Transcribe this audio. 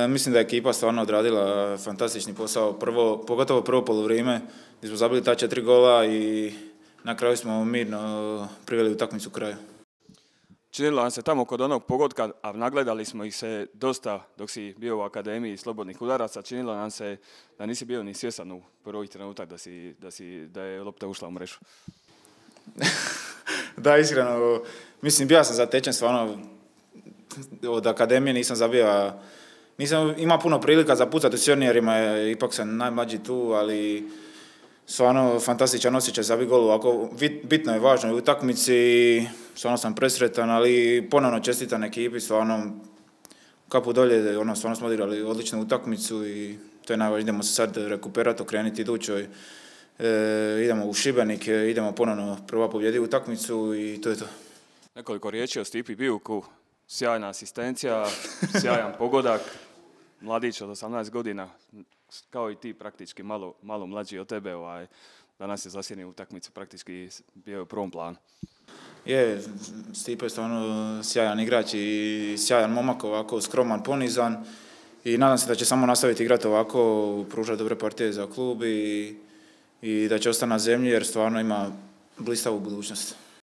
Mislim da je ekipa stvarno odradila fantastični posao, pogotovo prvo poluvrijeme gdje smo zabili ta 4 gola i na kraju smo mirno priveli utakmicu kraju. Činilo nam se tamo kod onog pogotka, a nagledali smo ih se dosta dok si bio u Akademiji slobodnih udaraca, činilo nam se da nisi bio ni svjestan u prvih trenutak da je lopta ušla u mrežu. Da, iskreno, mislim, bio sam zatečen stvarno od Akademije, nisam zabio, nisam imao puno prilika za pucati u seniorima, ipak sam najmlađi tu, ali stvarno fantastičan osjećaj za gol ovako, bitno je važno u utakmici, stvarno sam presretan, ali ponovno čestitam ekipi, stvarno kapu dolje, stvarno smo odigrali odličnu utakmicu i to je najvažnije, idemo se sad rekuperati, okrenuti idućoj, idemo u Šibenik, idemo ponovno prva pobjedi utakmicu i to je to. Nekoliko riječi o Stipi Bijuku, sjajna asistencija, sjajan pogodak, mladić od 18 godina, kao i ti praktički malo mlađi od tebe, danas je zasjenio utakmicu, praktički bio je u prvom planu. Je, Stipe je stvarno sjajan igrač i sjajan momak, ovako skroman, ponizan i nadam se da će samo nastaviti igrati ovako, pružati dobre partije za klub i da će ostati na zemlji jer stvarno ima blistavu budućnost.